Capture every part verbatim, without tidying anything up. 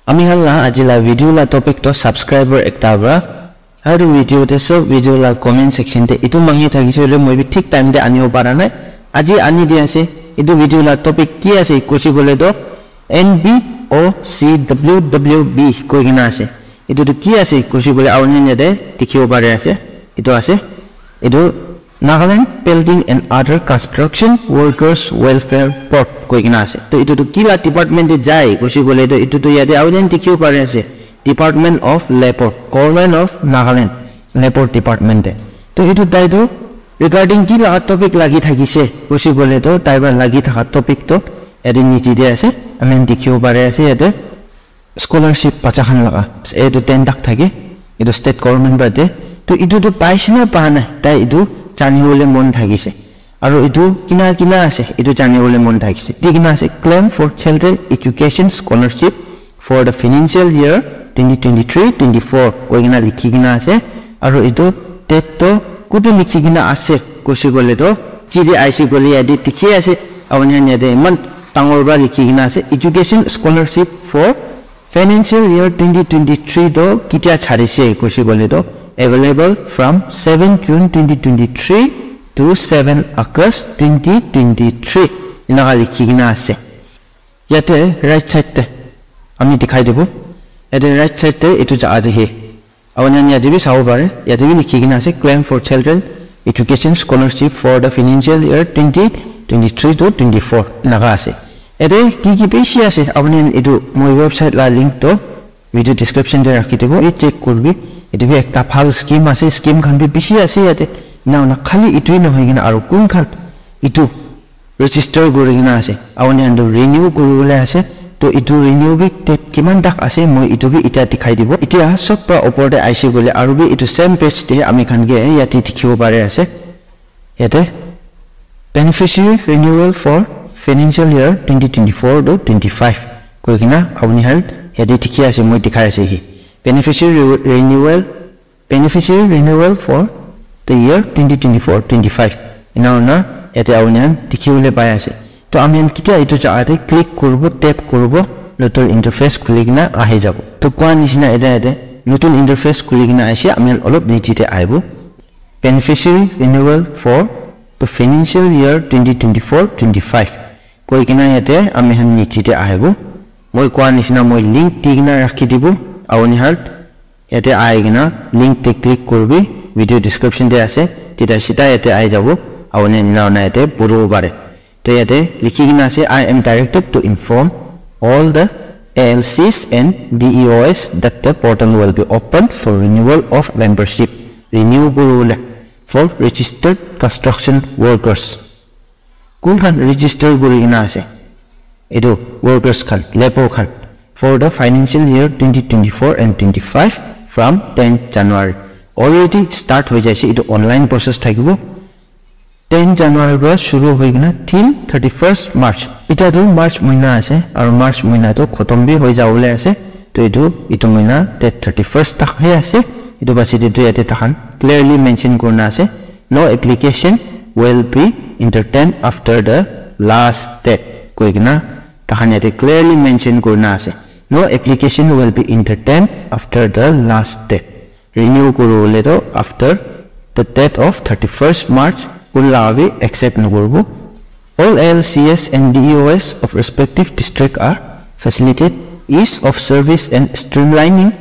Ami khan la aji la video la topic to subscriber ekta para. Aru video te sob video la comment section te itu mangi thakise hoile moi bi thik time te anibo para nai. Aji ani di ase. Itu video la topic ki ase koise koile to N B O C W W B koi kena ase. Itu tu ki ase koise koile auni yate dikhibo pare ase. Itu ase. Itu Nagaland Building and Other Construction Workers Welfare Board koi kena ase. To itu tu kila department te jai koise koile to itu tu yate auni dikhibo pare ase. Department of Labor, Government of Nagaland, Labor Department te. To itu tai tu regarding ki laga topic lagi thakise koise koile to tai para lagi thaka topic to yate niche te ase. Ami dikhibo pare ase yate scholarship bacha khan laga. Etu ten lakh thake. Etu state government para de. To etu tu paise na pa nai. Tai etu jani bole mon thakise. Aru etu kina kina ase. Etu jani bole mon thakise. Di kina ase claim for children education scholarship for the financial year twenty twenty-three twenty-four. Koi kena likhi kena ase. Aru etu date to kutu likhi kena ase. Koise koile to. Chidi aise koile yate dikhi ase. Auni yate iman dangor para likhi kena ase. Education scholarship for Financial year twenty twenty-three to kitia charise koise koile to available from seven June twenty twenty-three to seven August twenty twenty-three. Enaka likhi kena ase. Yate right side te ami dikhai dibo. Yate right side te etu jaga te he. Auni yate bi sabo pare. Yate bi likhi kena ase claim for children education scholarship for the financial year twenty twenty-three to twenty-four enaka ase. Yate ki ki bishi ase, apuni khan etu moi website la link to video description te rakhi dibo, bi check kuribi. Etu bi ekta bhal scheme ase, scheme khan bi bishi ase yate. Ena hoina khali etu hi nohoi kena aru kun khan etu register kuri kena ase, apuni khan tu renew kuri bole ase. To etu renew bi date kiman tak ase, moi etu bi itya dikhai dibo. Itya sob para upor te aise koile aru bi etu same page te ami khan ke yate dikhibo pare ase. Yate beneficiary renewal for financial year twenty twenty-four to twenty-five koi kena apuni khan yate dikhi ase, moi dikhai ase hi. Beneficiary re- renewal, beneficiary renewal for the year twenty twenty-four twenty-five. Ena hoina yate apuni khan dikhi bole pai ase. To ami khan kitia etu jaga te click kuribo, tap kuribo, notun interface khuli kena ahi jabo. To koa nishina yate yate notun interface khuli kena aise, ami khan olop niche te ahibo. Beneficiary renewal for the financial year twenty twenty-four twenty-five. Koi kena yate ami khan niche te ahibo. Moi koa nishina moi link di kena rakhi dibo. Apuni khan yate ahi kena link te click kuribi. Video description te ase. Tita sita yate ahi jabo. Apuni ena hoina yate puribo pare. To yate likhi kena ase, "I am directed to inform all the A L Cs and D E Os that the portal will be open for renewal of membership." Renew kuri bole for registered construction workers. Kun khan register kuri kena ase? Etu workers khan, labor khan. For the financial year twenty twenty-four and twenty-five from ten January. Already start hoi jaise, etu online process thakibo. Ten January para shuru hoi kena till thirty-first March. Itya tu March mahina ase, aru March mahina tu khotom bi hoi jabole ase. To etu, etu mahina date thirty-first tak he ase. Etu basi te tu yate takhan clearly mention kurina ase, "No application will be entertained after the last date," koi kena takhan yate clearly mention kurina ase. "No application will be entertained after the last date." Renew kuri bole to after the date of thirty-first March kun laga bi accept nokuribo. All A L Cs and D E Os of respective district are facilitated ease of service and streamlining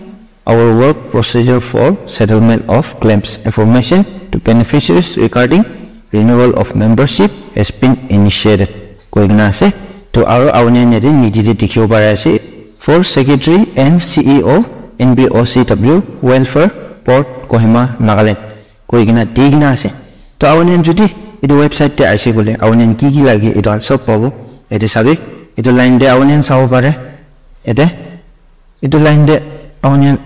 our work procedure for settlement of claims. Information to beneficiaries regarding renewal of membership has been initiated. Koi kena ase. To aru apuni khan yate niche te dikhibo pari ase, "For Secretary and C E O, N B O C W, Welfare Board, Kohima, Nagaland," koi kena di kena ase. To apuni khan jodi etu website te aise koile apuni khan ki ki lage etu khan sob pabo. Yate sabi, etu line te apuni khan sabo pare. Yate etu line te apuni khan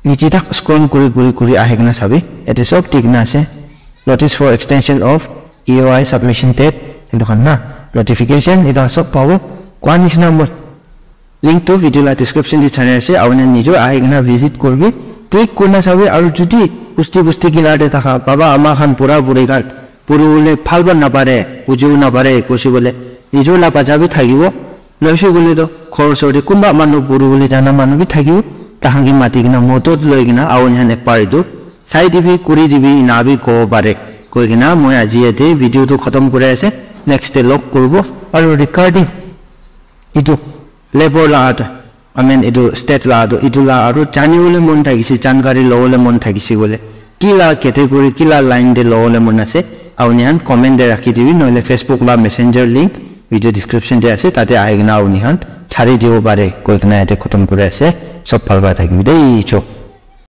niche tak scroll kuri kuri kuri ahi kena sabi, yate sob di kena ase. "Notice for extension of E O I submission date," etu khan na, notification, etu khan sob pabo. Koa nishina moi link tu video la description te chari ase, apuni khan nijor ahi kena visit kuribi, click kurina sabi, aru jodi bosti bosti kinar te thaka baba ama khan bura buri khan puri bole bhal para napare, bujibo napare, koise koile nijor la bacha bi thakibo. Noise koile to ghor osor te kunba manu puri bole jana manu bi thakibo, tahan ke mati kena modot loi kena aru nihan ekbar etu sai dibi, kuri dibi, ena bi kobo pare koi kena moi aji yate video tu khatam kuri ase. Next te log kuribo. Aru regarding etu labour la tu, I mean etu state la tu, etu la aru jani bole mon thakise, jankari lobole mon thakise koile, ki la category, ki la line te lobole mon ase, aru nihan comment te rakhi dibi, nohole Facebook la messenger link video description te ase, tate ahi kena aru nihan chari dibo pare koi kena yate khatam kuri ase. Sob bhal para thakibi dei, chok.